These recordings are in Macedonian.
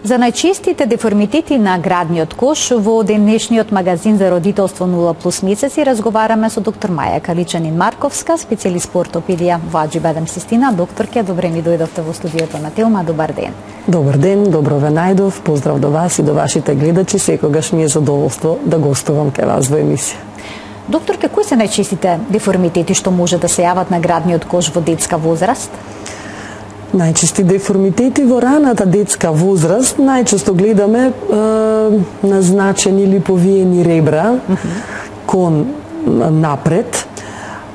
За најчестите деформитети на градниот кош во денешниот магазин за родителство 0+ месеци разговараме со доктор Маја Каличанин-Марковска, специјалист по ортопедија во Аџи-Бадем Систина. Докторке, добре ми дојдовте во студиото на Телма. Добар ден. Добар ден, добро ве најдов. Поздрав до вас и до вашите гледачи. Секогаш ми е задоволство да гостувам кај вас во емисија. Докторке, кои се најчестите деформитети што може да се јават на градниот кош во детска возраст? Најчести деформитети во раната детска возраст најчесто гледаме назначени или повиени ребра кон напред,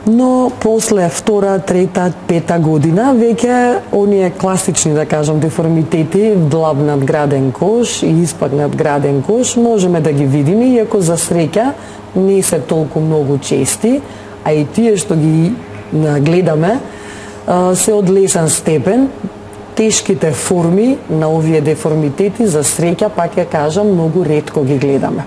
но после втора, трета, пета година веќе оние класични, да кажам, деформитети, длабнат граден кош и испагнат граден кош можеме да ги видиме, иако за среќа не се толку многу чести, а и тие што ги гледаме се од лесен степен. Тешките форми на овие деформитети за среќа, пак ја кажам, многу ретко ги гледаме.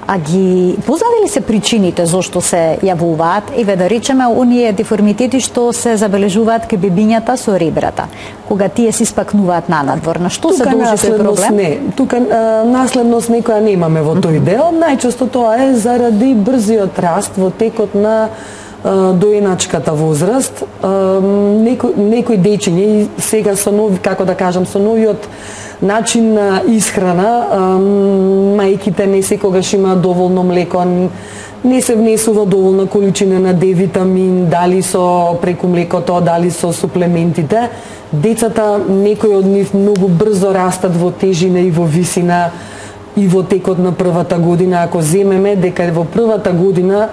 А ги познати ли се причините зошто се јавуваат? Еве да речеме оние деформитети што се забележуваат кај бебињата со ребрата, кога тие се испакнуваат на надвор. На што се должи тој проблем? Не, тука наследност некоја немаме во тој дел. Најчесто тоа е заради брзиот раст во текот на доеначката возраст. Некои дечиња сега со нови, како да кажам, со новиот начин на исхрана, мајките не секогаш имаат доволно млеко, не се внесува доволна количина на D-витамин, дали со преку млекото, дали со суплементите. Децата, некои од нив многу брзо растат во тежина и во висина и во текот на првата година. Ако земеме дека во првата година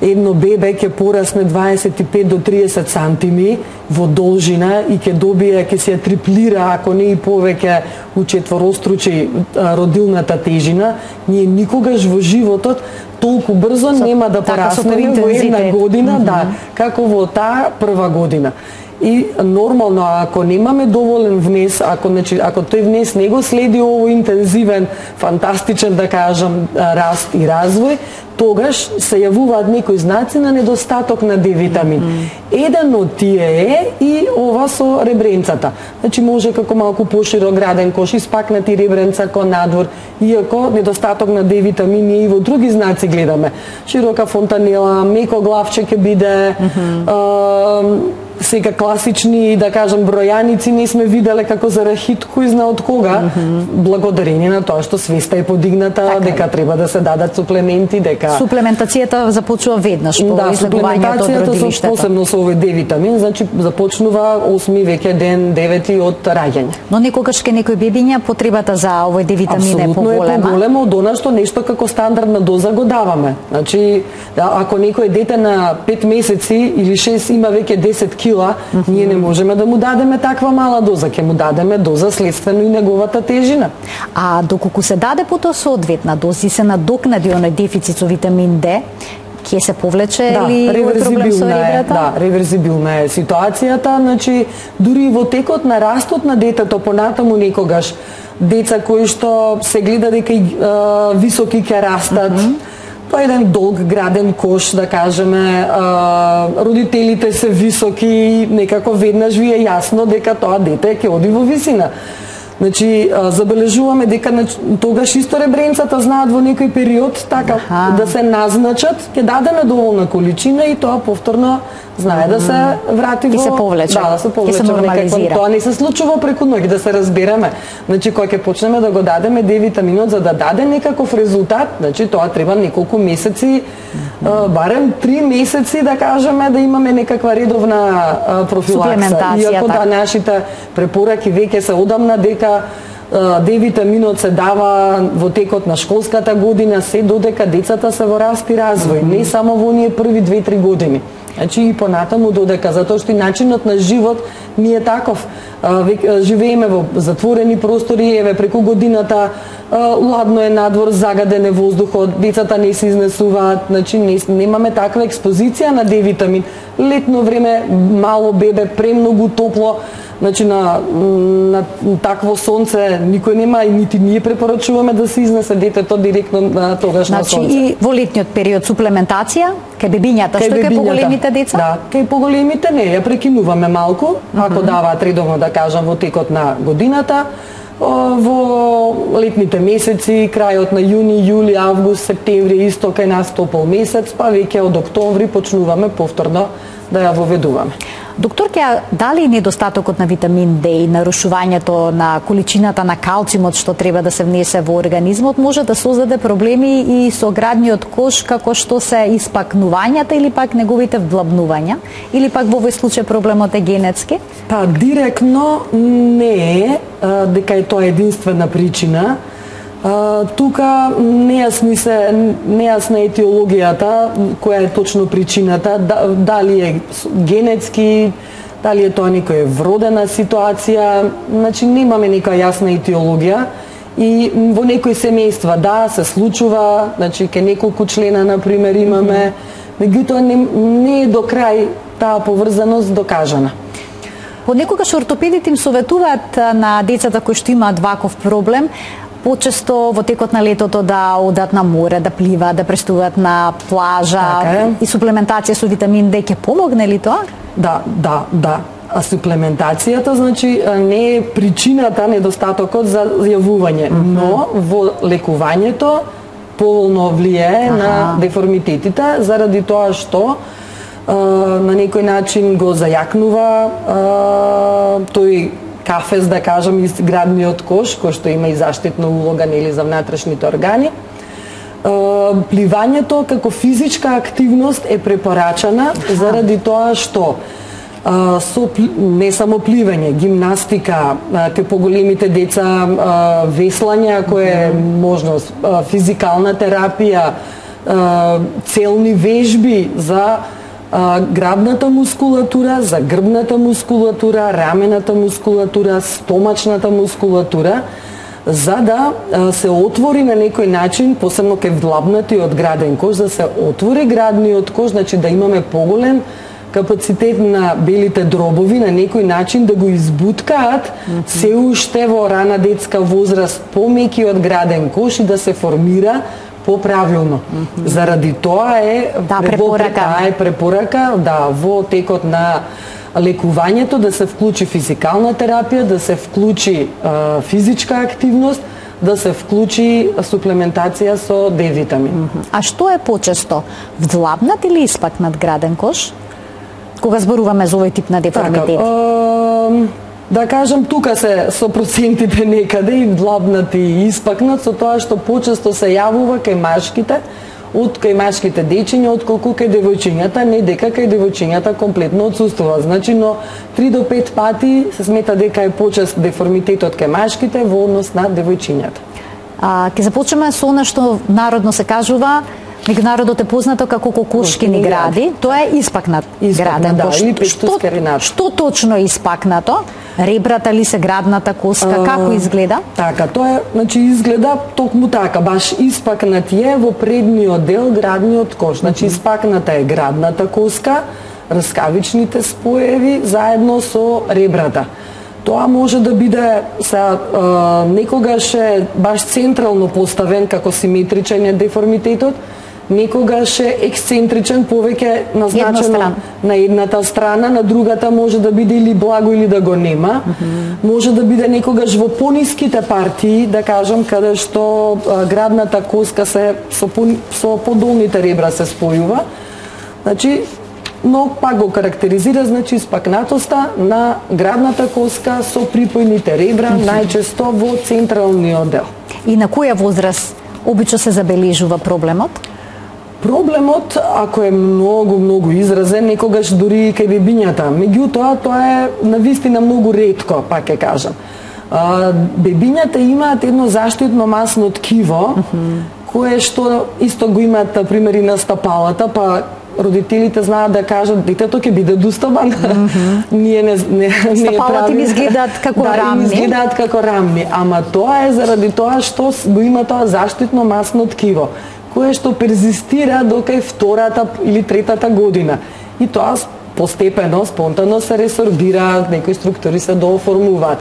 едно бебе ќе порасне 25 до 30 сантими во должина и ќе добие, ќе се триплира, ако не и повеќе, учетворостручи родилната тежина, ние никогаш во животот толку брзо нема да пораснеме во една година, да, како во таа прва година. И нормално, ако немаме доволен внес, ако тој внес не го следи овој интензивен, фантастичен, да кажам, раст и развој, тогаш се јавуваат некои знаци на недостаток на D-витамин. Еден од тие е и ова со ребренцата. Значи може како малку поширок граден кош, испакнати ребренца кон надвор, иако недостаток на D-витамин и во други знаци гледаме. Широка фонтанела, меко главче ќе биде, сега класични, да кажам, бројаници не сме виделе како за рахит кој зна од кога, благодарение на тоа што свеста е подигната, дека треба да се дадат суплементи, дека суплементацијата започнува веднаш по излегувањето од родилиштето. Посебно со овој D-витамин, значи започнува 8 веќе ден, 9 од раѓање. Но некогаш ке некои бебиња потребата за овој D-витамин е поголема. Апсолутно е поголема од она што нешто како стандардна доза го даваме. Значи, ако некој дете на 5 месеци или 6 има веќе 10 кила, ние не можеме да му дадеме таква мала доза, ќе му дадеме доза следствено и неговата тежина. А доколку се даде потоа соодветна доза и се надокнади оној дефицит со витамин D, ќе се повлече ли овој проблем со ребрата? Да, реверзибилна е ситуацијата, значи дури во текот на растот на детето понатаму некогаш деца кои што се гледа дека високи ќе растат, па еден долг граден кош, да кажеме, родителите се високи, некако веднаш ви е јасно дека тоа дете ќе оди во висина. Значи, забележуваме дека тогаш исто ребренцата знаат во некој период така да се назначат, ќе дадеме доволна количина и тоа повторно знае да се врати во... И се повлече. Да, да се повлече. И се нормализира. Тоа не се случува преку ноќ, да се разбереме. Значи, кога ќе почнеме да го дадеме D-витаминот за да даде некаков резултат, значи тоа треба неколку месеци, барем 3 месеци, да кажеме, да имаме некаква редовна профилакса. Иако да, нашите препораки веќе се одамна дека D-витаминот се дава во текот на школската година, се додека децата се во раст и развој, не само во оние први 2-3 години. Значи и понатаму додека, затоа што и начинот на живот ни е таков. Живееме во затворени простори, еве преку годината ладно е надвор, загаден е воздухот, децата не се изнесуваат, значи немаме таква експозиција на D-витамин. Летно време, мало бебе, премногу топло, значи на такво сонце никој нема и нити ние препорачуваме да се изнесе детето директно на тогаш на сонце. Значи и во летниот период суплементација кај бебињата, што кај поголемите деца? Да, кај поголемите не, ја прекинуваме малку, ако даваат редовно, да кажам, во текот на годината. Во летните месеци, крајот на јуни, јули, август, септември, исто кај нас топол месец, па веќе од октомври почнуваме повторно да ја воведуваме. Докторке, дали недостатокот на витамин Д и нарушувањето на количината на калциумот што треба да се внесе во организмот може да создаде проблеми и со градниот кош, како што се испакнувањата или пак неговите вдлабнувања, или пак во овој случај проблемот е генетски? Па директно не е дека е тоа единствена причина. Тука нејасна етиологијата, која е точно причината, дали е генетски, дали е тоа некоја вродена ситуација, значи немаме нека јасна етиологија и во некои семејства да се случува, значи ке неколку члена на пример имаме, меѓутоа не е до крај таа поврзаност докажана. Понекогаш ортопедите им советуваат на децата кои што имаат ваков проблем почесто во текот на летото да одат на море, да пливаат, да престуваат на плажа и суплементација со витамин Д ќе помогне ли тоа? Да. А суплементацијата значи не е причината недостатокот за јавување, но во лекувањето поволно влијае на деформитетите заради тоа што на некој начин го зајакнува тој кафез, да кажам, из градниот кош, кој што има и заштитна улога нели за внатрешните органи. Пливањето како физичка активност е препорачана заради тоа што не само пливање, гимнастика, кај поголемите деца веслање, ако е можност, физикална терапија, целни вежби за грабната мускулатура, за грбната мускулатура, рамената мускулатура, стомачната мускулатура, за да се отвори на некој начин, посебно кај вдлабнатиот граден кош, да се отвори градниот кош, значи да имаме поголем капацитет на белите дробови, на некој начин да го избуткаат се уште во рана детска возраст помекиот граден кош и да се формира поправилно. Заради тоа е препорака во текот на лекувањето да се вклучи физикална терапија, да се вклучи физичка активност, да се вклучи суплементација со Д-витамин. А што е почесто? Вдлабнат или испакнат граден кош? Кога зборуваме за овој тип на деформитет? Да кажам, тука се со процентите некаде и вдлабнат и испакнат, со тоа што почесто се јавува кај машките, кај машките дечиња, отколку кај девојчињата, не дека кај девојчињата комплетно отсуствува. Значи, но 3 до 5 пати се смета дека е почест деформитетот кај машките во однос на девојчињата. Ќе започнеме со она што народно се кажува, меѓу народот е познато како кокошкини гради, тоа е испакнат граден кош. Што точно е испакнато? Ребрата ли се, градната коска, како изгледа? Така, тоа е, значи изгледа токму така, баш испакнат е во предниот дел градниот кош. Значи испакната е градната коска, раскавичните споеви заедно со ребрата. Тоа може да биде некогаш е баш централно поставен како симетричен е деформитетот, некогаш е ексцентричен, повеќе назначено на едната страна, на другата може да биде или благо или да го нема. Може да биде некогаш во пониските партии, да кажам, каде што градната коска се со подолните ребра се спојува. Значи, но пак го карактеризира, значи, испакнатоста на градната коска со припојните ребра, најчесто во централниот дел. И на која возраст обично се забележува проблемот? Проблемот, ако е многу изразен, некогаш дури и кај бебињата. Меѓутоа, тоа е навистина многу ретко, пак ќе кажам. Бебињата имаат едно заштитно масно ткиво, кое што исто го имаат, на пример, и на стапалата, па родителите знаат да кажат, детето ќе биде достабан. Ние не стапалата им изгледаат како рамни. Изгледаат како рамни, ама тоа е заради тоа што го има тоа заштитно масно ткиво, кое што перзистира до кај втората или третата година. И тоа постепено, спонтано се ресорбира, некои структури се дооформуваат.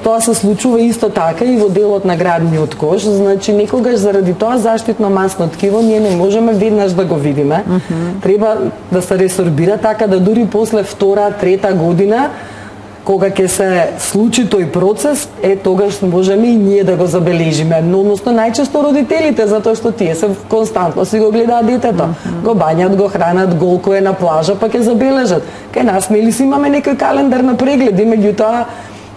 Тоа се случува исто така и во делот на градниот кош, значи некогаш заради тоа заштитно масно ткиво ние не можеме веднаш да го видиме. Треба да се ресорбира така да дури после втора, трета година кога ќе се случи тој процес, тогаш можеме и ние да го забележиме. Но односно најчесто родителите, затоа што тие се константно си го гледаат детето, го бањат, го хранат, голко е на плажа, па ќе забележат. Кај нас нели си имаме некој календар на прегледи, меѓутоа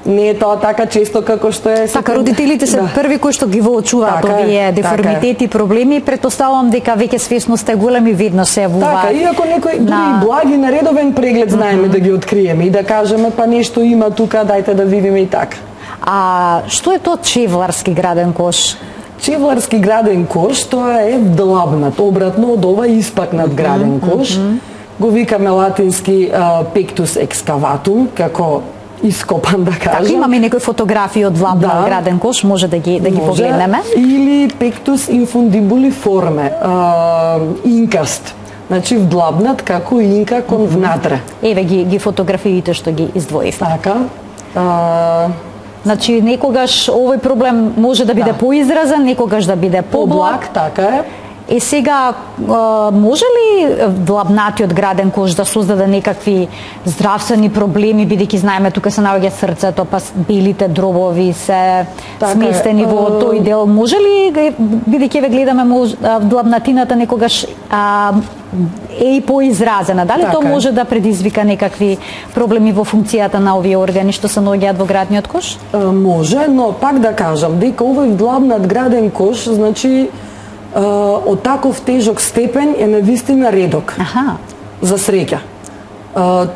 не е тоа така често како што е. Така родителите се први кои што ги воочуваат овие деформитети, проблеми, претпоставувам дека веќе свесноста е голема и веднаш се јавуваат. Така, иако некој дури благи на редовен преглед знаеме да ги откриеме и да кажеме па нешто има тука, дајте да видиме и така. А што е тоа чевларски граден кош? Чевларски граден кош, тоа е длабнат, обратно од ова испакнат граден кош. Го викаме латински pectus excavatum, како ископан, да кажам. Така, имаме некои фотографии од длабнат граден кош, може да ги погледнеме. Или pectus infundibuliforme, инкаст. Значи вдлабнат како инка кон внатре. Еве ги фотографиите што ги издвоив. Така. Значи некогаш овој проблем може да биде поизразен, некогаш да биде поблаг. Така е. Сега, може ли длабнатиот граден кош да создаде некакви здравствени проблеми, бидејќи знаеме тука се наоѓа срцето, па белите дробови се сместени во тој дел. Може ли, бидејќи ве гледаме длабнатината некогаш е и поизразена, дали тоа може да предизвика некакви проблеми во функцијата на овие органи што се наоѓаат во градниот кош? Може, но пак да кажам дека овој длабнат граден кош, значи од таков тежок степен е навистина редок. За среќа.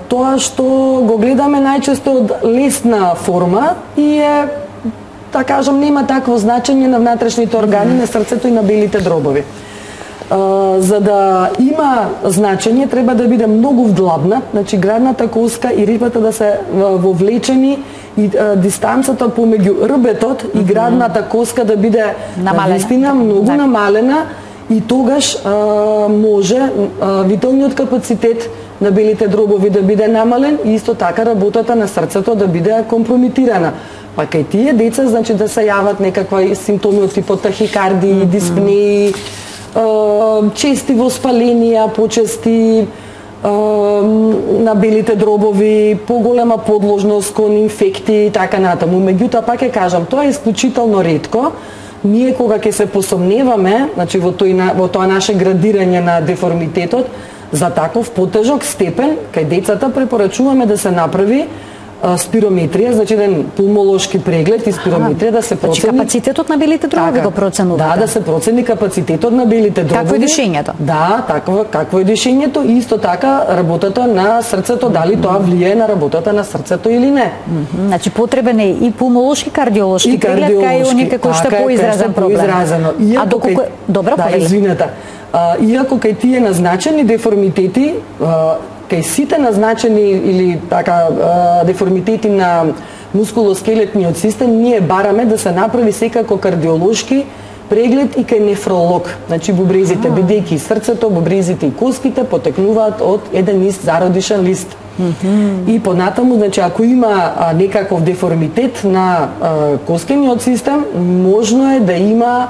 Тоа што го гледаме најчесто од лесна форма и е, да кажам, нема такво значење на внатрешните органи, на срцето и на белите дробови. За да има значење, треба да биде многу вдлабнат, значи градната коска и рибата да се вовлечени и дистанцата помеѓу рбетот и градната коска да биде навистина многу намалена и тогаш може виталниот капацитет на белите дробови да биде намален и исто така работата на срцето да биде компрометирана. Па кај тие деца, значи да се јават некаква симптоми од типот тахикардии, диспнеи, чести воспаленија, почести на белите дробови, поголема подложност кон инфекти и така натаму. Меѓутоа, пак ќе кажам, тоа е исклучително ретко. Ние кога ќе се посомневаме, значи во тоа наше градирање на деформитетот, за таков потежок степен, кај децата препорачуваме да се направи спирометрија, значи еден пулмолошки преглед и спирометрија да се процени. Значи капацитетот на белите дробови го проценувате? Да се процени капацитетот на белите дробови. Какво е дишењето? Да, какво е дишењето и исто така работата на срцето, дали тоа влијае на работата на срцето или не. Значи потребен е и пулмолошки, кардиолошки преглед, кај оние кои што е поизразен проблем. А доколку добро, извинете. Иако кај тие назначени деформитети, кај сите назначени или така деформитети на мускулоскелетниот систем, ние бараме да се направи секако кардиолошки преглед и кај нефролог. Значи бубрезите, бидејќи срцето, бубрезите и коските потекнуваат од еден ист зародишен лист. И понатаму, значи ако има некаков деформитет на коскениот систем, можно е да има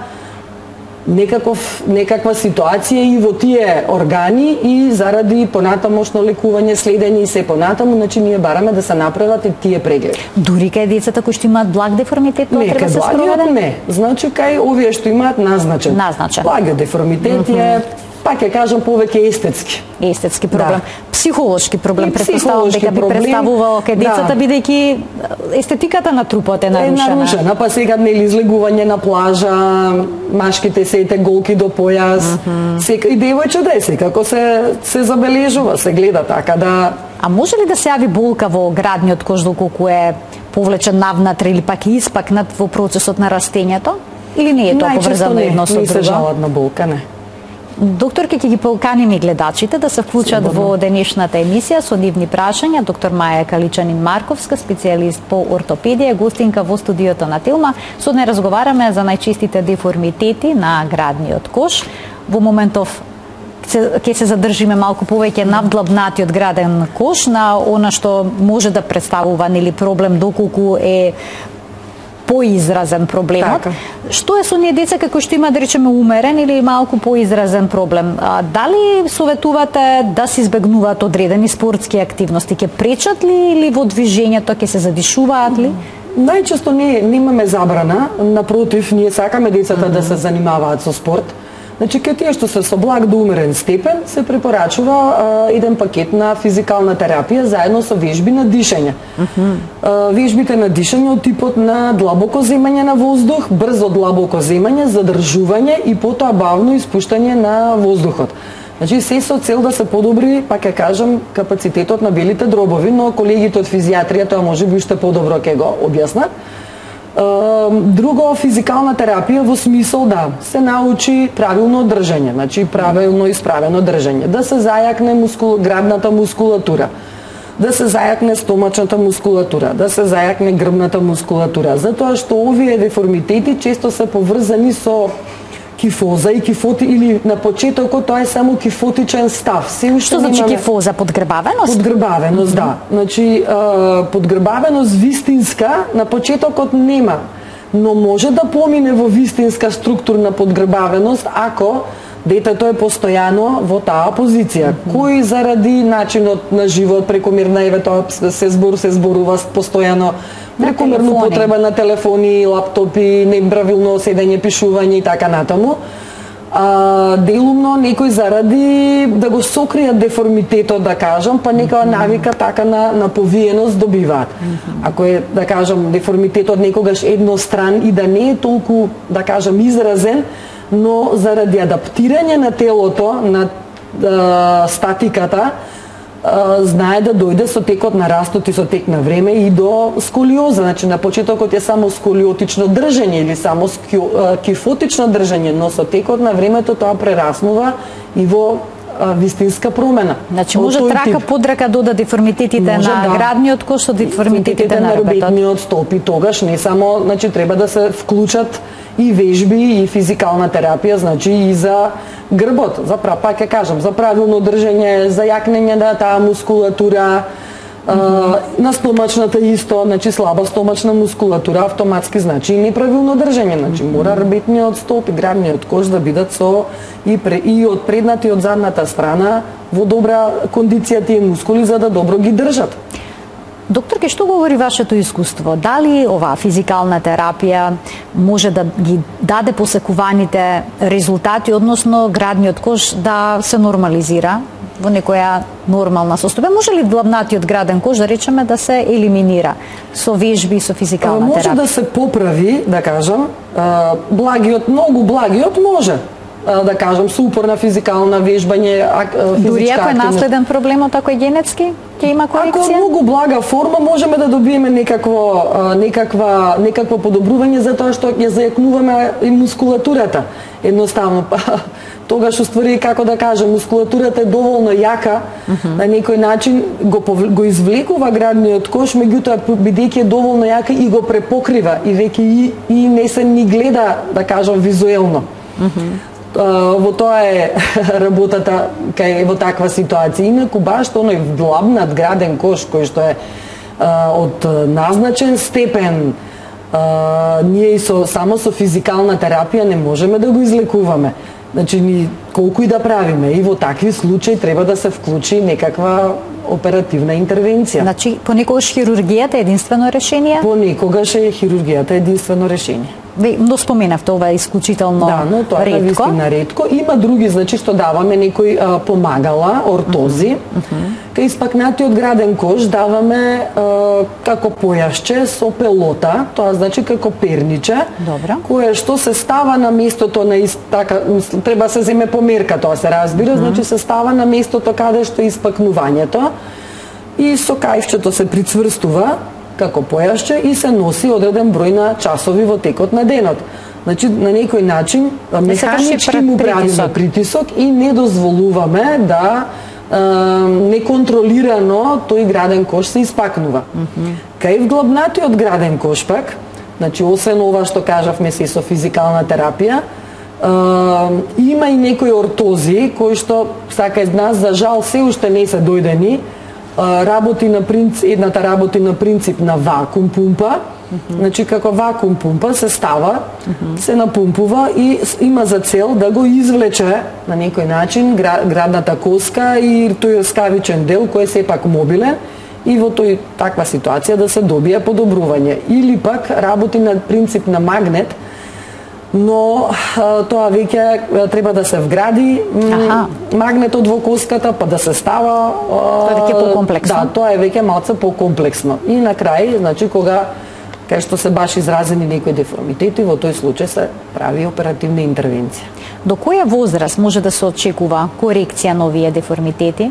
некаква ситуација и во тие органи и заради понатамошно лекување, следење и се понатаму, значи ние бараме да се направат и тие прегледи. Дури кај децата кои што имаат благ деформитет, тоа треба да се спроведе? Не, значи кај овие што имаат назначен. Благиот деформитет е, пак ќе кажам, повеќе естетски. Естетски проблем. Психолошки проблем, претпоставувам дека би представувал кај децата, бидејќи естетиката на трупот е нарушена. Па сега нели излегување на плажа, машките сеите голки до појас, сека и девојче секако се забележува, се гледа така да. А може ли да се јави болка во градниот кош доколку е повлечен навнатре или пак испакнат во процесот на растењето? Или не е тоа поврзано едно со друго? Не се жалат на болка, не. Докторке, ќе ги поканим и гледачите да се вклучат во денешната емисија со нивни прашања. Доктор Маја Каличанин-Марковска, специјалист по ортопедија, гостинка во студиото на Телма. Со неа разговараме за најчестите деформитети на градниот кош. Во моментов ќе се задржиме малку повеќе на вдлабнатиот граден кош, на она што може да представува нели проблем доколку е поизразен проблемот. Така. Што е со оние деца како што има, да речеме, умерен или малку поизразен проблем? Дали советувате да се избегнуваат одредени спортски активности? Ќе пречат ли или во движењето ќе се задишуваат ли? Најчесто немаме забрана, напротив, ние сакаме децата да се занимаваат со спорт. Значи, кај тие што се со благ до умерен степен, се препорачува еден пакет на физикална терапија заедно со вежби на дишење. Вежбите на дишење од типот на длабоко земање на воздух, брзо длабоко земање, задржување и потоа бавно испуштање на воздухот. Значи, се со цел да се подобри, пак ќе кажам, капацитетот на белите дробови, но колегите од физијатрија тоа може би уште подобро ќе го објаснат. Друго, физикална терапија во смисол да се научи правилно држање, значи правилно исправено држање, да се зајакне грабната мускулатура, да се зајакне стомачната мускулатура, да се зајакне грбната мускулатура, затоа што овие деформитети често се поврзани со кифоза и кифоти, или на почетокот тоа е само кифотичен став. Што значи кифоза? Подгрбавеност? Подгрбавеност, да. Значи, подгрбавеност вистинска на почетокот нема, но може да помине во вистинска структурна подгрбавеност ако детето е постојано во таа позиција, кој заради начинот на живот, прекомерна тоа се зборува постојано, прекомерна употреба на телефони, лаптопи, неправилно седење, пишување и така натаму. Делумно некој заради да го сокријат деформитетот, да кажам, па некоја навика така на повиеност добиваат. Ако е, да кажам, деформитетот некогаш едностран и да не е толку, да кажам, изразен, но заради адаптирање на телото, на статиката, знае да дојде со текот на растот и со тек на време и до сколиоза. Значи, на почетокот е само сколиотично држање или само кифотично држање, но со текот на времето тоа прераснува и во вистинска промена. Значи, може трака подрака дода деформитетите на градниот кош со деформитетите на робетниот столб, и тогаш не само, значи, треба да се вклучат и вежби и физикална терапија, значи и за грбот, за пак ќе кажам, за правилно држање, за јакнење на таа мускулатура, на стомачната исто, значи слаба стомачна мускулатура автоматски значи и неправилно држање, значи мора рбетниот столб и градниот кош да бидат со и од предната и од задната страна во добра кондиција тие мускули за да добро ги држат. Докторке, што говори вашето искуство? Дали оваа физикална терапија може да ги даде посекуваните резултати, односно градниот кош да се нормализира во некоја нормална состојба? Може ли длабнатиот граден кош, да речеме, да се елиминира со вежби и со физикална терапија? Може да се поправи, да кажам, благиот, многу благиот може, да кажам, со упорна физикална вежбање, дури ако е наследен проблемот, ако е генетски, ќе има корекција? Ако е многу блага форма, можеме да добиеме некакво подобрување, затоа што ја зајакнуваме и мускулатурата. Едноставно, тогаш уствари, како да кажем, мускулатурата е доволно јака, на некој начин го извлекува градниот кош, меѓутоа бидејќи е доволно јака и го препокрива и веќе и не се ни гледа, да кажам, визуелно. Во тоа е работата кај во таква ситуација. Инаку баш оној длабнат граден кош кој што е од назначен степен, ние само со физикална терапија не можеме да го излекуваме. Значи, ни колку и да правиме, и во такви случаи треба да се вклучи некаква оперативна интервенција. Значи, понекогаш хирургијата е единствено решение? Понекогаш е хирургијата единствено решение. Но споменавте, ова е исклучително ретко. Да, но тоа е навистина ретко. Има други, значи, што даваме некои помагала, ортози. Кај испакнатиот граден кош даваме како појашче со пелота, тоа значи како перниче, кое што се става на местото на треба се земе померка, тоа се разбира, значи се става на местото каде што е испакнувањето и со кајфчето се прицврстува како појашче и се носи одреден број на часови во текот на денот. Значи, на некој начин механички му правиме притисок и не дозволуваме да неконтролирано тој граден кош се испакнува. Кај вглабнатиот граден кош пак, значи освен ова што кажавме се со физикална терапија, има и некои ортози кои што сака од нас за жал се уште не се дојдени. Едната работи на принцип на вакуум пумпа, Значи како вакуум пумпа се става, се напумпува и има за цел да го извлече на некој начин градната коска и тој скавичен дел кој е сепак мобилен и во таква ситуација да се добие подобрување. Или пак работи на принцип на магнет, но тоа веќе треба да се вгради магнетот во коската, па да се става. Тоа е веќе покомплексно. Да, тоа е веќе малце покомплексно. И на крај, значи кога кај што се баш изразени некои деформитети, во тој случај се прави оперативна интервенција. До која возраст може да се очекува корекција на овие деформитети?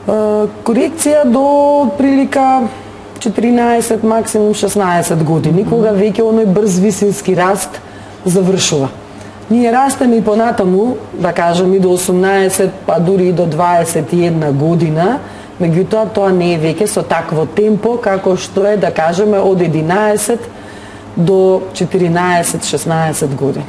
Корекција до прилика 14, максимум 16 години, кога веќе оној брз висински раст завршува. Ние растеме и понатаму, да кажем и до 18, па дури и до 21 година, меѓутоа тоа не е веќе со такво темпо како што е, да кажеме, од 11 до 14-16 години.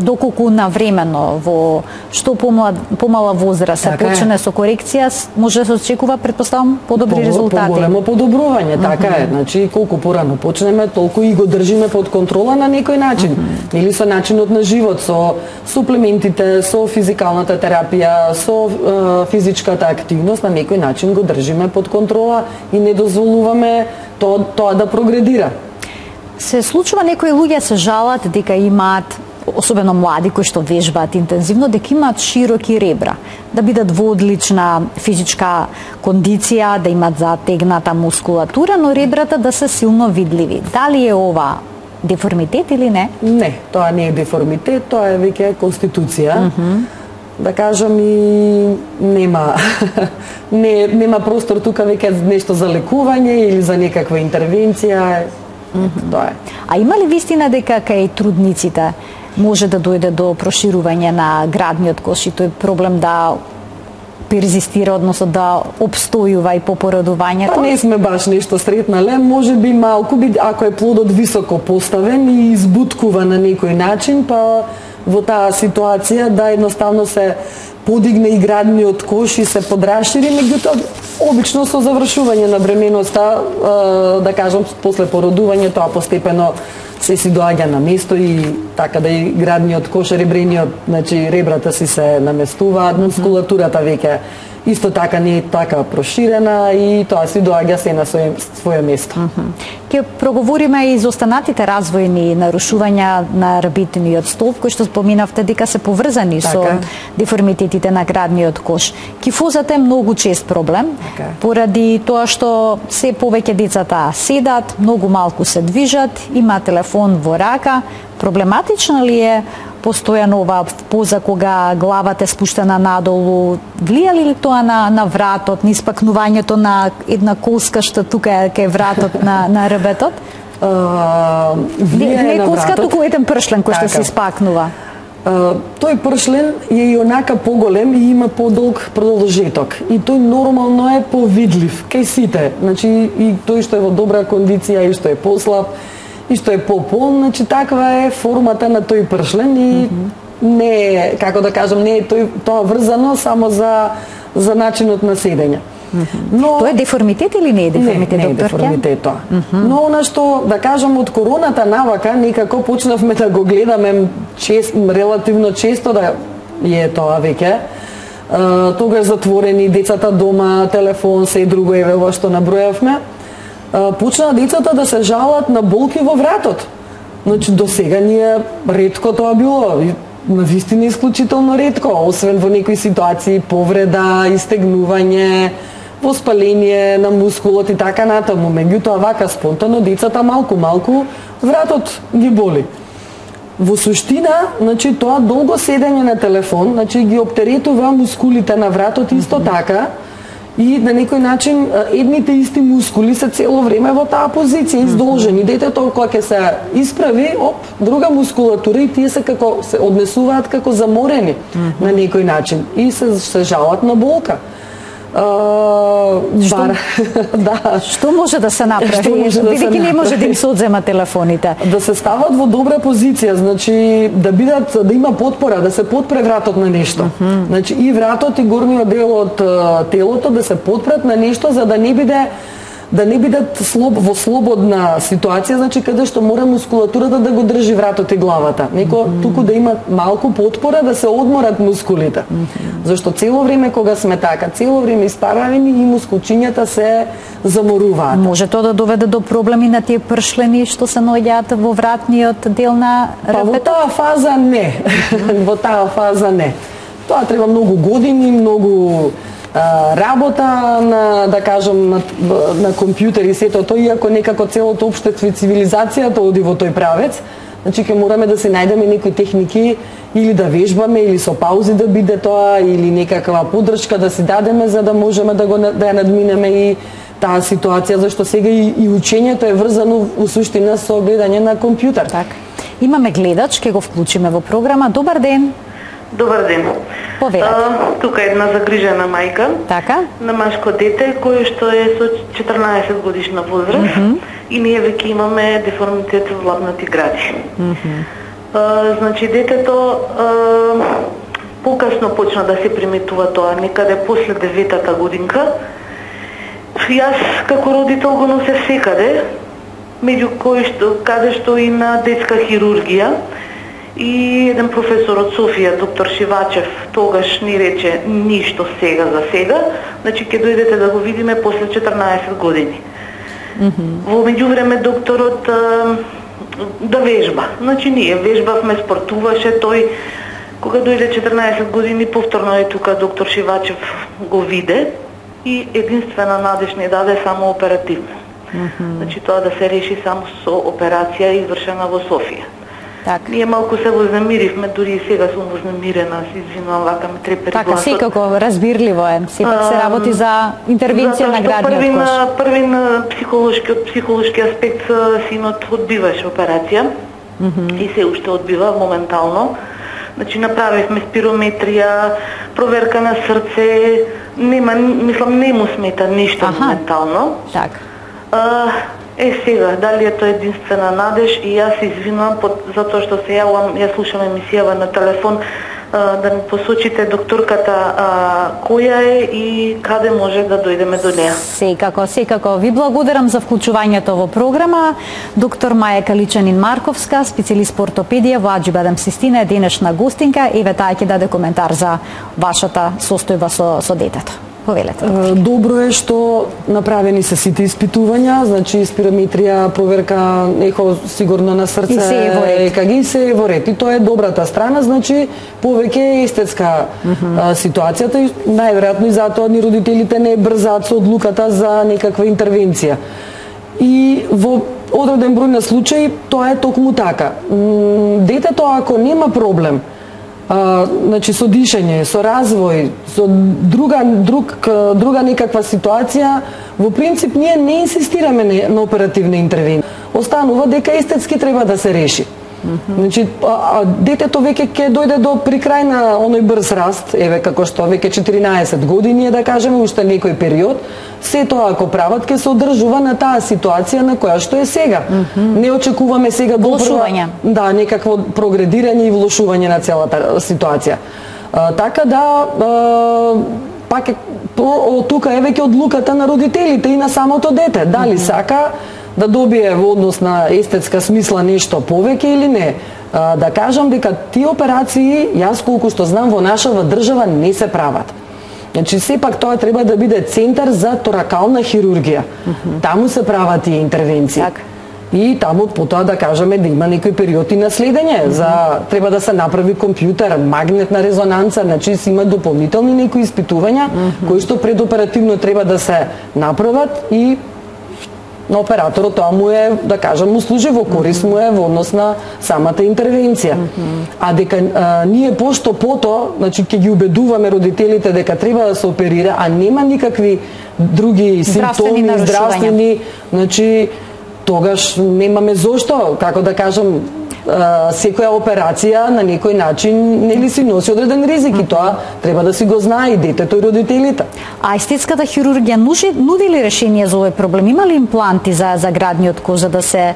Доколку навремено во што помала возраст се почне со корекција, може да се очекува, претпоставам, подобри резултати. Поголемо подобрување, така е. Значи, колку порано почнеме, толку и го држиме под контрола на некој начин. Или со начинот на живот, со суплементите, со физикалната терапија, со физичката активност, на некој начин го држиме под контрола и не дозволуваме тоа да прогредира. Се случува некои луѓе се жалат дека имаат, особено млади кои што вежбаат интензивно, дека имаат широки ребра, да бидат во одлична физичка кондиција, да имат затегната мускулатура, но ребрата да се силно видливи. Дали е ова деформитет или не? Не, тоа не е деформитет, тоа е веќе конституција. Да кажам, и нема простор тука веќе нешто за лекување или за некаква интервенција. Тоа е. А има ли вистина дека кај трудниците може да дојде до проширување на градниот кош и тој проблем да перзистира, односно да обстојува и по породувањето? Па не сме баш нешто сретнале, може би малку, ако е плодот високо поставен и избуткува на некој начин, па во таа ситуација да едноставно се подигне и градниот кош и се подрашири, меѓутоа обично со завршување на бременоста, да кажам, после породување тоа постепено се си доаѓа на место и така да и градниот кош, ребрениот, значи ребрата си се наместуваат, мускулатурата веќе исто така не е така проширена и тоа си доаѓа се на своје место. Ќе проговориме и за останатите развојни нарушувања на рабитниот столб, кои што споминавте дека се поврзани со деформитетите на градниот кош. Кифозата е многу чест проблем, поради тоа што се повеќе децата седат, многу малку се движат, има телефон во рака. Проблематична ли е постојано ова поза кога главата е спуштена надолу? Влија ли тоа на вратот, на испакнувањето на една колска што тука е кај вратот на ребетот? Не е колска, туку еден пршлен кој што се испакнува. Тој пршлен е и онака поголем и има подолг продолжеток. И тој нормално е повидлив кај сите. Значи и тој што е во добра кондиција и што е послаб и што е пополн, значи таква е формата на тој пршлен и не е, како да кажам, не е тоа врзано само за начинот на седење. Но тоа е деформитет или не е деформитет, доктор? Не е деформитет тоа. Но она што, да кажам, од короната навака некако почнавме да го гледаме релативно често, да е тоа веќе. Тогаш затворени, децата дома, телефон, се и друго, еве ова што набројавме. Почнаа децата да се жалат на болки во вратот. Значи, до сега ние ретко тоа било, навистина исклучително ретко, освен во некои ситуации повреда, истегнување, воспаление на мускулот и така натаму. Меѓутоа, вака спонтано децата малку вратот ги боли. Во суштина, значи, тоа долго седење на телефон, значи, ги оптеретува мускулите на вратот исто така, и на некој начин едните исти мускули се цело време во таа позиција издолжени. Детето кога ќе се исправи, друга мускулатура и тие се однесуваат како заморени на некој начин и се жалат на болка. Што може да се направи? Бидејќи не може да им се одзема телефоните. Да се стават во добра позиција, значи да има потпора, да се подпре вратот на нешто. Значи и вратот и горниот дел од телото да се подпрат на нешто за да не биде да не бидат во слободна ситуација, значи каде што мора мускулатурата да го држи вратот и главата. Туку да има малку потпора да се одморат мускулите. Зашто цело време кога сме така, цело време испаравени и мускулчињата се заморуваат. Може тоа да доведе до проблеми на тие пршлени што се наоѓаат во вратниот дел на рапето? Во таа фаза не. Во таа фаза не. Тоа треба многу години, многу работа на, да кажам, на компјутер и сето тоа, иако некако целото општество и цивилизацијата оди во тој правец. Значи ќе мораме да се најдеме некои техники или да вежбаме, или со паузи да биде тоа, или некаква поддршка да си дадеме за да можеме да ја надминеме и таа ситуација, зашто сега и учењето е врзано во суштина со гледање на компјутер. Така. Имаме гледач, ќе го вклучиме во програма. Добар ден. Добар ден. Повелете. Тука е една загрижена мајка. Така. На машко дете кој што е со 14 годишна возраст и ние веќе имаме деформитет во лабнати гради. Значи детето покасно почна да се приметува тоа, некаде после 9-та годинка. Јас како родител го носев секаде, меѓу каде што и на детска хирургија. И еден професор од Софија, доктор Шивачев, тогаш ни рече ништо сега за сега, значи ќе дојдете да го видиме после 14 години. Во меѓувреме докторот да вежба. Значи ние вежбавме, спортуваше тој. Кога дојде 14 години, повторно е тука доктор Шивачев го виде и единствена надеж не даде само оперативно. Значи тоа да се реши само со операција извршена во Софија. Так. Ние малку се вознемиривме, дури и сега сум вознемирена, се извинувам, вака ме трепери гласот. Така, секако разбирливо е. Сепак се работи за интервенција на градниот кош. Први на психолошки аспект синот одбиваше операција и се уште одбива моментално. Значи направивме спирометрија, проверка на срце, нема, мислам, не му смета ништо моментално. Така. Сега, дали е тоа единствена надеж и јас се извинувам затоа што се јавам, ја слушам емисијава на телефон, да ми посочите докторката која е и каде може да дојдеме до неа. Секако. Ви благодарам за вклучувањето во програма. Доктор Маја Каличанин-Марковска, специјалист по ортопедија во Аџи Систина, е денешна гостинка. Еве таа ќе даде коментар за вашата состојба со детето. Повелете. Добро е што направени се сите испитувања, значи спирометрија, проверка, ехо сигурно на срце, ЕКГ и се во ред. И тоа е добрата страна, значи повеќе е естетска ситуацијата и најверојатно и затоа ни родителите не брзаат со одлуката за некаква интервенција. И во одреден број на случаи тоа е токму така. Детето ако нема проблем, значи со дишење, со развој, со друга некаква ситуација, во принцип ние не инсистираме на оперативна интервенција. Останува дека естетски треба да се реши. Значи, детето веќе ќе дојде до прикрај на оној брз раст, еве како што веќе 14 години е, да кажеме, уште некој период, се тоа ако прават ќе се одржува на таа ситуација на која што е сега. Не очекуваме сега влошување. Да, некакво прогредирање и влошување на целата ситуација. Така да, пак тука е веќе одлуката на родителите и на самото дете. Дали сака да добие во однос на естетска смисла нешто повеќе или не. Да кажам дека тие операции, јас колку што знам, во нашава држава не се прават. Значи, сепак тоа треба да биде центар за торакална хирургија. Таму се прават тие интервенции. И таму потоа, да кажеме, да има некој период и на следење. Треба да се направи компјутер, магнетна резонанца, значи се има дополнителни некои испитувања кои што предоперативно треба да се направат и на операторот тоа му е, да кажам, му служи во корист, му е во однос на самата интервенција. А дека ние пошто пото, значи ќе ги убедуваме родителите дека треба да се оперира, а нема никакви други симптоми здравствени, значи тогаш немаме зошто, како да кажам, секоја операција на некој начин нели си носи одреден ризик и тоа треба да си го знае и детето и родителите. А естетската хирургија нуди ли решение за овој проблем? Има ли импланти за градниот кош за да се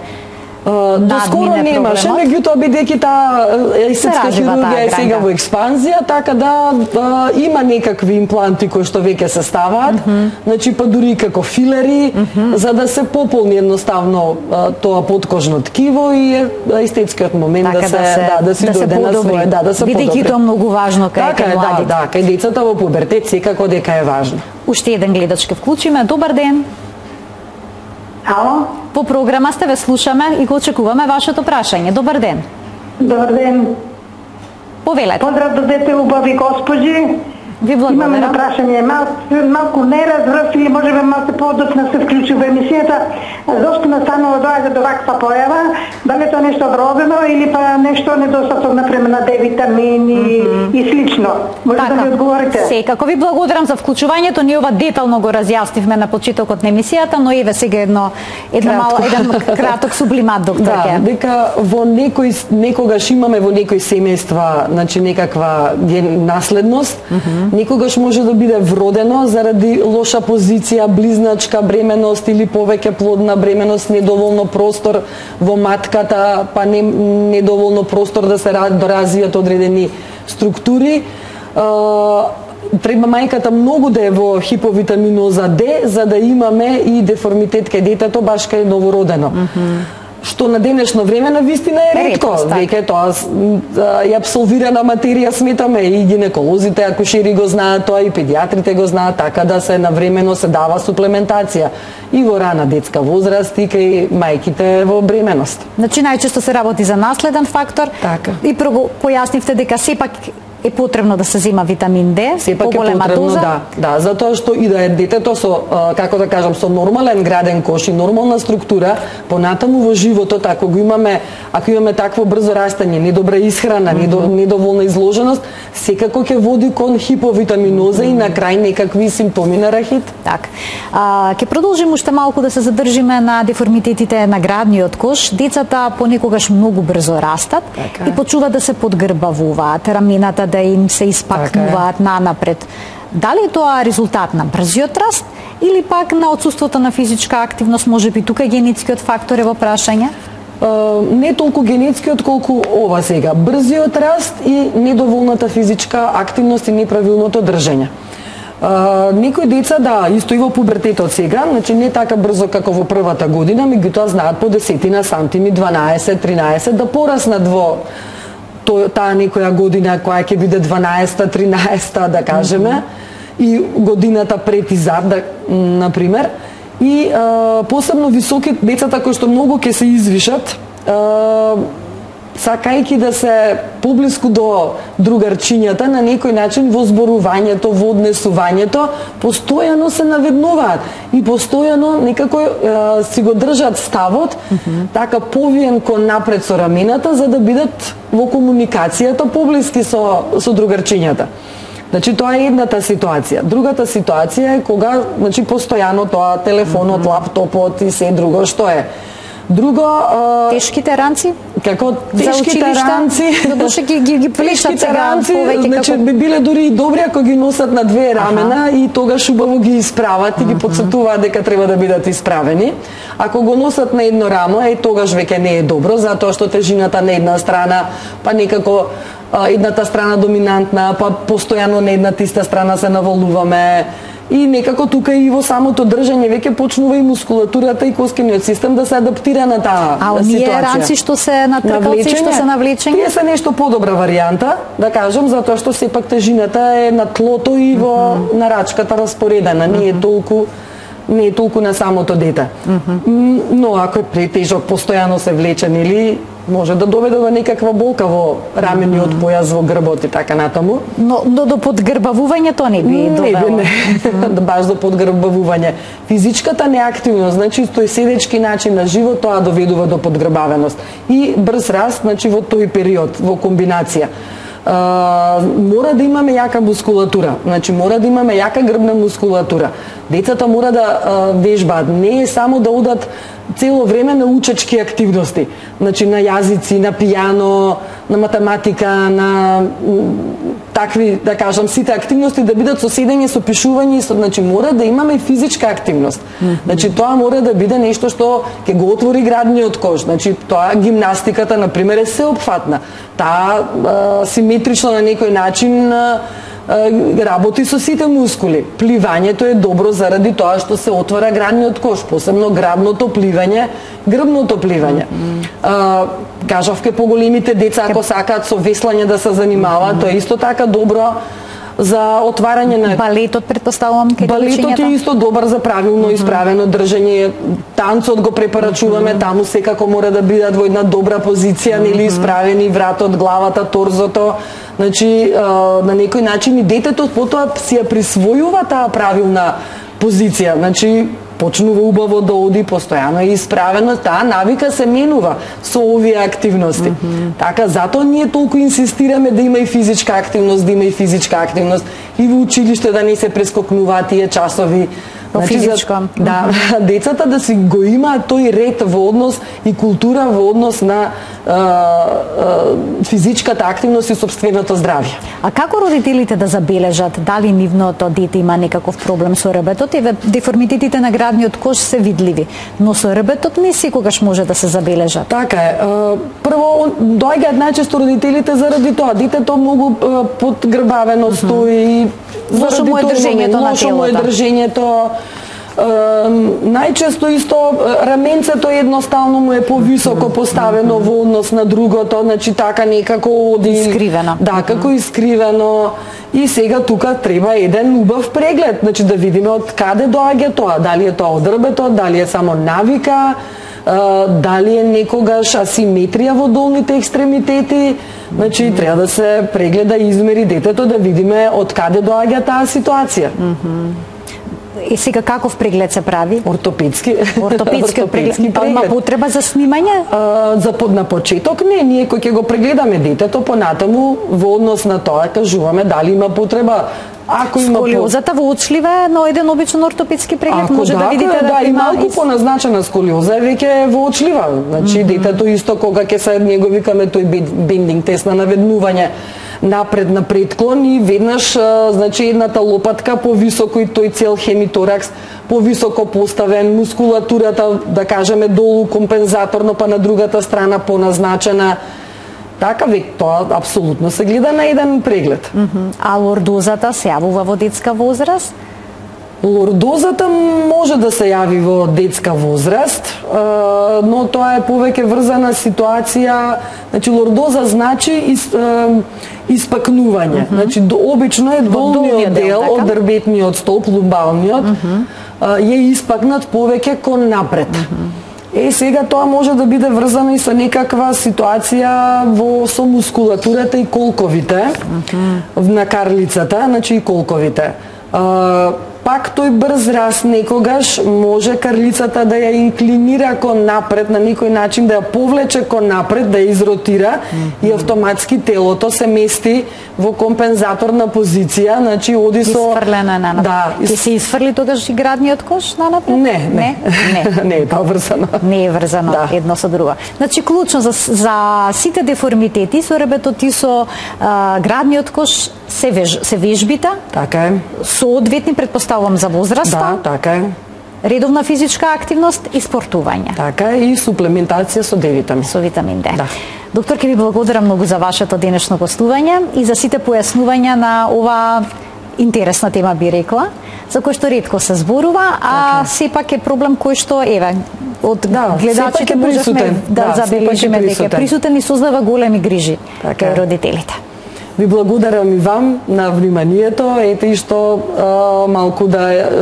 Доскоро немаше, меѓутоа бидејќи таа естетска хирургија е сега во експанзија, така да има некакви импланти кои што веќе се ставаат, значи па дури како филери, за да се пополни едноставно тоа подкожно ткиво и естетскиот момент да се дојде на своје, да се подобри. Бидејќи тоа многу важно кај младите. Да, кај децата во пубертет секако дека е важно. Уште еден гледач ке вклучиме. Добар ден. Ало? По програма сте, ве слушаме и го очекуваме вашето прашање. Добар ден. Добар ден. Повелете. Поздрав до дете убави госпожи. Ви благодарам. Имаме прашање, малку не разбрав или можеме малку подоцна се вклучи во емисијата. Зошто настанува доаѓа до ваква појава? Дали тоа нешто вродено или па нешто недостаток например на D витамини и слично? Може да ми одговорите? Секако ви благодарам за вклучувањето. Ние ова детално го разјаснивме на почетокот на емисијата, но еве сега еден краток сублимат, доктор. Да, дека во некогаш имаме во некои семејства, значи некаква наследност. Некогаш може да биде вродено заради лоша позиција, близначка бременост или повеќе плодна бременост, недоволно простор во матката, па недоволно простор да се доразвијат одредени структури. Треба мајката многу да е во хиповитаминоза Д, за да имаме и деформитет кај детето баш кај новородено. Што на денешно време на вистина е ретко. Веќе тоа е апсолвирана материја, сметаме, и гинеколозите, акушери го знаат тоа, и педиатрите го знаат, така да се навремено се дава суплементација и во рана детска возраст и кај мајките во бременост. Значи најчесто се работи за наследен фактор. Така. И појаснивте дека сепак е потребно да се зема витамин D, поголема доза. Да, затоа што и да е детето со, како да кажам, со нормален граден кош и нормална структура, понатаму во животот, ако имаме такво брзо растање, недобра исхрана, недоволна изложеност, секако ќе води кон хиповитаминоза и на крај некакви симптоми на рахит. Так. Ќе продолжиме уште малку да се задржиме на деформитетите на градниот кош. Децата понекогаш многу брзо растат и почнуваат да се подгрбавуваат, рамената да им се испакнуваат нанапред. Дали е тоа резултат на брзиот раст или пак на отсуството на физичка активност, можеби тука генетскиот фактор е во прашање? Не толку генетскиот колку ова сега. Брзиот раст и недоволната физичка активност и неправилното држење. Некои деца, да, исто и во пубертетот сега, значи не така брзо како во првата година, меѓутоа знаат по 10 сантими, 12, 13 да пораснат во таа некоја година која ќе биде 12-та, 13-та, да кажеме, и годината пред и зад, например. И посебно високи децата кои што многу ќе се извишат, сакајќи да се поблиску до другарчињата, на некој начин во зборувањето, во однесувањето, постојано се наведнуваат и постојано некако си го држат ставот, така повиен кон напред со рамената, за да бидат во комуникацијата поблиски со другарчињата. Значи тоа е едната ситуација. Другата ситуација е кога, значи постојано тоа телефонот, лаптопот и се друго што е. Друго, тешките ранци? Како тешките ранци? Додуше ги плешат сега повеќе. Значи би биле дури и добри ако ги носат на две рамена и тогаш убаво ги исправат и ги потсетуваат дека треба да бидат исправени. Ако го носат на едно рамо, тогаш веќе не е добро, затоа што тежината на една страна, па некако едната страна доминантна, па постојано на едната иста страна се навалуваме. И некако тука и во самото држање веќе почнува и мускулатурата и коскениот систем да се адаптира на таа ситуација. А оние ранци што се натркалци, што се навлечени? Тие се нешто подобра варијанта, да кажам, затоа што сепак тежината е на тлото и во нарачката распоредена, не е толку на самото дете. Но ако е претежок, постојано се влечен или може да доведе до некаква болка во рамениот појас, во грбот и така натаму. Но до подгрбавувањето не би довело? Не, баш до подгрбавување. Физичката неактивност, значи тој седечки начин на живот, тоа доведува до подгрбавеност. И брз раст, значи во тој период, во комбинација. Мора да имаме јака мускулатура, значи мора да имаме јака грбна мускулатура. Децата мора да вежбаат, не е само да одат цело време на учечки активности, значи на јазици, на пијано, математика, на такви, да кажам, сите активности да бидат со седење, со пишување, значи мора да имаме физичка активност. Значи тоа мора да биде нешто што ќе го отвори градниот кош. Значи тоа гимнастиката на пример е сеопфатна. Таа симетрично на некој начин работи со сите мускули. Пливањето е добро заради тоа што се отвара градниот кош, посебно грабното пливање, грбното пливање. Кажавке поголемите деца ако сакаат со веслање да се занимаваат, тоа е исто така добро за отварање на балетот, предпоставувам, балетот е исто добар за правилно исправено држање. Танцот го препорачуваме, таму секако мора да бидат во една добра позиција, нели исправени вратот, главата, торзото. Значи на некој начин и детето потоа си ја присвојува таа правилна позиција. Значи почнува убаво да оди, постојано е исправено, таа навика се менува со овие активности. Така, затоа ние толку инсистираме да има и физичка активност, и во училиште да не се прескокнуваат тие часови. Значи, физичко. Да, децата да си го имаат тој ред во однос и култура во однос на физичката активност и сопственото здравје. А како родителите да забележат дали нивното дете има некаков проблем со ребетот? Еве, деформитетите на градниот кош се видливи, но со ребетот не секогаш може да се забележат. Така е. Прво, доаѓаат најчесто родителите заради тоа. Детето многу подгрбавено стои, лошо му е држењето на телото. Најчесто исто раменцето едноставно му е повисоко поставено во однос на другото, значи така некако оди искривено. Да, како искривено. И сега тука треба еден убав преглед, значи да видиме од каде доаѓа тоа, дали е тоа од рбетот, дали е само навика, дали е некогаш асиметрија во долните екстремитети. Значи треба да се прегледа и измери детето да видиме од каде доаѓа таа ситуација. И сега каков преглед се прави? Ортопедски преглед. Има потреба за снимање? На почеток не, ние кој ќе го прегледаме детето, понатаму во однос на тоа кажуваме дали има потреба. Ако има сколиозата воочлива на еден обичен ортопедски преглед може да видите да и малку поназначена сколиоза е веќе воочлива. Значи детето исто кога ќе се ние го викаме тој бендинг тест на наведнување напред на предклон и веднаш значи едната лопатка повисоко и тој цел хемиторакс повисоко поставен, мускулатурата да кажеме долу компензаторно па на другата страна поназначена. Така век тоа апсолутно се гледа на еден преглед. А лордозата се јавува во детска возраст? Лордозата може да се јави во детска возраст, но тоа е повеќе врзана ситуација. Значи лордоза значи испакнување. Значи обично е долниот дел од дрбетниот столб, лумбалниот, е испакнат повеќе кон напред. Сега тоа може да биде врзано и со некаква ситуација со мускулатурата и колковите на карлицата, значи и колковите. Пак тој брз раст некогаш може карлицата да ја инклинира кон напред, на некој начин да ја повлече кон напред, да ја изротира и автоматски телото се мести во компензаторна позиција, значи оди со изфрлено на напред. Да, ќе се изфрли тогаш и градниот кош на напред? Не. Не е тоа врзано. Не е врзано едно со друго. Значи клучно за сите деформитети со ребетот и со градниот кош се вежбите. Така е. Соодветни предпоставувам за возраста. Да, така е. Редовна физичка активност и спортување. Така е, и суплементација со D-витамин. Со витамин D. Да. Доктор, ќе ви благодарам многу за вашето денешно гостување и за сите појаснувања на ова интересна тема, би рекла, за кој што ретко се зборува, а сепак е проблем кој што еве од гледачите можевме да забележиме дека присутен и создава големи грижи кај родителите. Ви благодарам и вам на вниманието, ете и што малку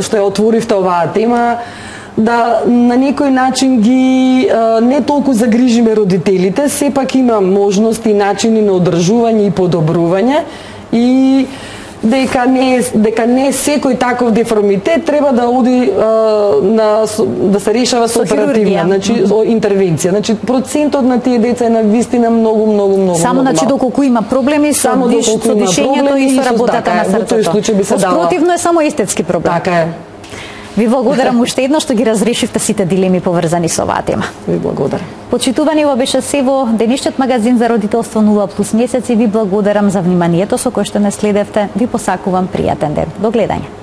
што ја отворивте оваа тема, да на некој начин ги не толку загрижиме родителите, сепак има можности и начини на одржување и подобрување и дека не секој таков деформитет треба да оди да се решава со оперативна, значи интервенција. Значи процентот на тие деца е навистина многу. Само значи доколку има проблеми со дишењето и со работата на срцето. Во тој случај би се дала. Спротивно е само естетски проблем. Така е. Ви благодарам уште еднаш што ги разрешивте сите дилеми поврзани со оваа тема. Ви благодарам. Почитувани, ова беше се во денешниот магазин за родителство 0+ месеци. Ви благодарам за вниманието со кое што не следевте. Ви посакувам пријатен ден. До гледање.